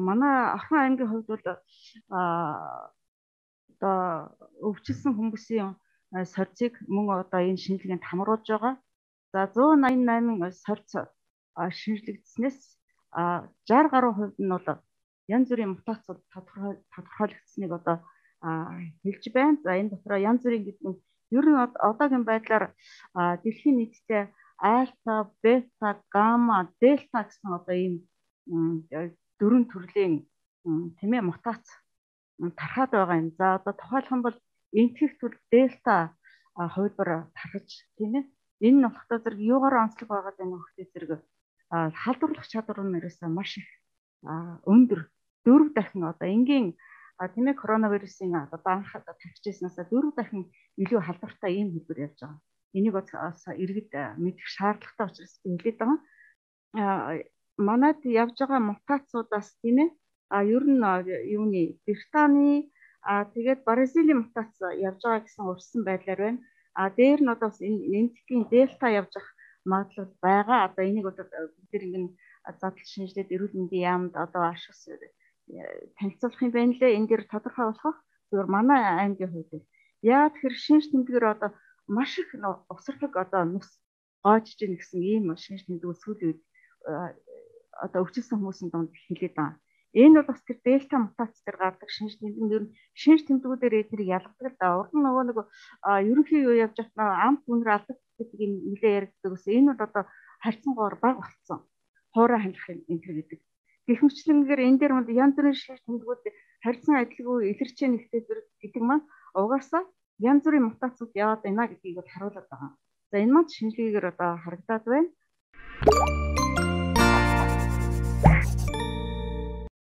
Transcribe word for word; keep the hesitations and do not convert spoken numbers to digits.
манай Орхон аймгийн хувьд бол а одоо өвчлсөн хүмүүсийн сорьцыг мөн одоо энэ шинжилгээнд хамруулж байгаа. За зуун найман найман сорьц шинжлэгдснээс шестьдесят гаруй хувьд нь бол янз бүрийн мутацууд тодорхойлогдсныг одоо хэлж байна. За энэ дотроо янз бүрийн гэдэг нь ер нь одоогийн байдлаар дэлхийн нийтдээ альфа, бета, гамма, дельта гэсэн одоо ийм дөрвөн төрлийн тийм ээ мутац тархаад байгаа юм. За одоо тухайлх юм бол энтгэх төр дельта хувилбар тархаж тийм ээ. Энэ нь болохтой зэрэг юугаар онцлог байгаа гэдэг нь хөхтэй зэрэг халдварлах чадвар нь ерөөсөө маш их өндөр дөрв дахин одоо энгийн тийм ээ коронавирусын одоо анх тавьчихснаас дөрв дахин илүү халдвартай ийм хэлбэр явж байгаа. Энийг бас иргэд мэдэх шаардлагатай учраас би хэлээд байгаа. Манайд явж байгаа мутацуудаас тийм ээ а ер нь юуны Британий а тэгээд Бразилийн мутац явж байгаа гэсэн урьдчилан байдлаар байна. А дээр нь одоо энэтхгийн дельта явж байгаа магадлал байгаа. Одоо энийг одоо бид нэг задлан шинжилээд эрүүл мэндийн яамд одоо ашигс танилцуулах юм байна лээ. Энэ дээр тодорхой болох зөвхөн манай аймгийн хувьд яа тэгэхээр шинж тэмдгээр одоо маш их усрлаг одоо нүс гоожж ийн гэсэн ийм шинж тэмдэг сүүлийн үед одоо өвчлсөн хүмүүсийн дунд хэлээд байгаа. Энэ бол бас тэр дельта мутац дээр гардаг шинж тэмдэг нь ер нь шинж тэмдгүүдээр эднийг ялгадаг л да. Урд нь нөгөө нэг ерөнхий юу явж байгаа амт үнэр алдаг гэдэг юм нэлээ яригддаг ус. Энэ бол одоо харьцангуйгаар бага болцсон. Хуурай хандах энэ төр гэдэг. Гэвчлэнгээр энэ дээр мод янз бүрийн шинж тэмдгүүд харьцан адилгүй илэрч нэгтэй гэдэг маань угаасаа янз бүрийн мутацууд яваад байна гэдгийг бол харуулдаг байгаа. За энэ маань шинжилгээгээр одоо харагдаад байна.